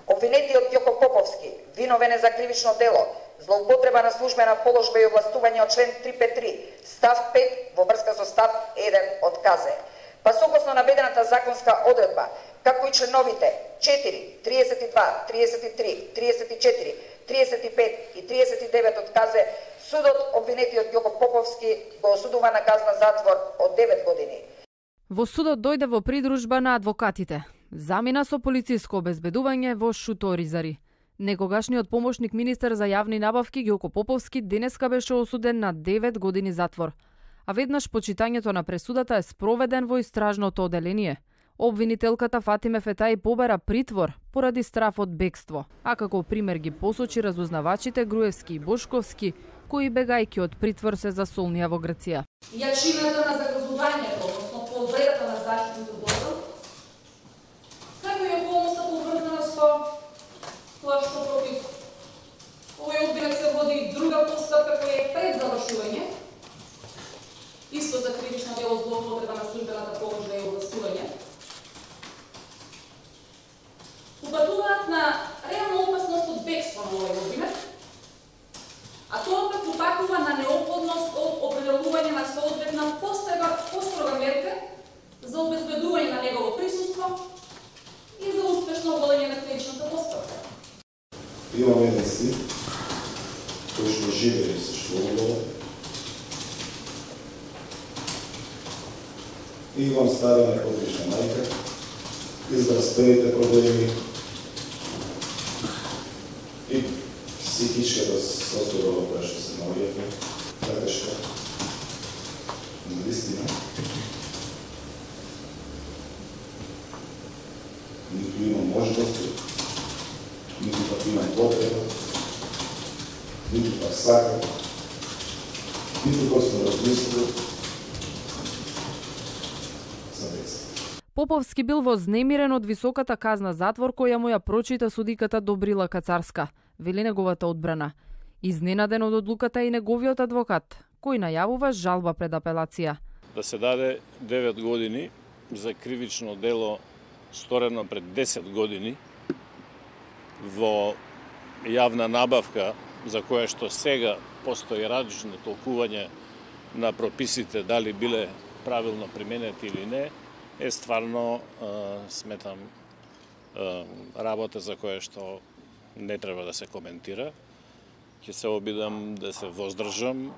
Обвинетиот Ѓоко Поповски виновен е за кривично дело злоупотреба на службена положба и овластување од член 353, став 5 во врска со став 1 од КЗ. Па согласно наведената законска одредба, како и членовите 4, 32, 33, 34, 35 и 39 од КЗ, судот обвинетиот Ѓоко Поповски го осудува на казна затвор од 9 години. Во судот дојде во придружба на адвокатите. Замина со полициско обезбедување во Шуторизари. Некогашниот помошник министер за јавни набавки Ѓоко Поповски денеска беше осуден на 9 години затвор. А веднаш почитањето на пресудата е спроведен во истражното оделение. Обвинителката Фатиме Фетаи побара притвор поради страф од бегство, а како пример ги посочи разузнавачите Груевски и Бошковски, кои бегајќи од притвор се засолнија во Грција. Јачината на загрозувањето, односно повредата на заштитното дозвол, како и околноста поврзана со тоа што против овој обвинет се води и друга постапка која е пред завршување, исто за кривично дело злоупотреба на службената положба и овластување, упатуваат на реална опасност од бегство на овој обвинет, а тоа пак упатува на неопходност од определување на соодветна построга мерка за обезбедување на негово присуство и за успешно водење на кривичната постапка. Имаме еден син кој што живее со школува и имам стара неподрична мајка, израстовите проблеми и психичката состојба која што се наоѓаме, така што наистина ниту имам можности, ниту пак имам потреба, ниту пак сакам, ниту пак сме размислили за деца. Поповски бил вознемирен од високата казна затвор која му ја прочита судиката Добрила Кацарска, вели неговата одбрана. Изненаден од одлуката и неговиот адвокат, кој најавува жалба пред апелација. Да се даде 9 години за кривично дело сторено пред 10 години во јавна набавка за која што сега постои различно толкување на прописите дали биле правилно применети или не, е стварно, сметам, работа за која што не треба да се коментира. Ќе се обидам да се воздржам.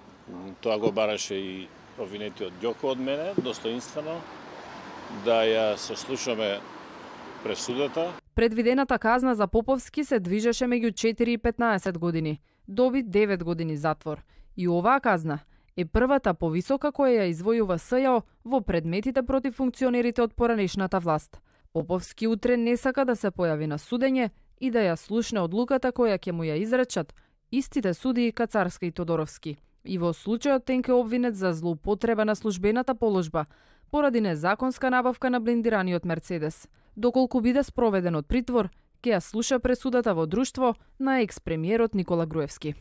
Тоа го бараше и обвинетиот Ѓоко од мене, достоинствено, да ја сослушаме пресудата. Предвидената казна за Поповски се движеше меѓу 4 и 15 години. Доби 9 години затвор. И оваа казна е првата повисока која ја извојува СЈО во предметите против функционерите од поранешната власт. Поповски утре не сака да се појави на судење и да ја слушне одлуката која ќе му ја изречат истите судии Кацарска и Тодоровски. И во случајот тенке обвинет за злоупотреба на службената положба поради незаконска набавка на блиндираниот Мерцедес. Доколку биде спроведен од притвор, ќе ја слуша пресудата во друштво на екс-премиерот Никола Груевски.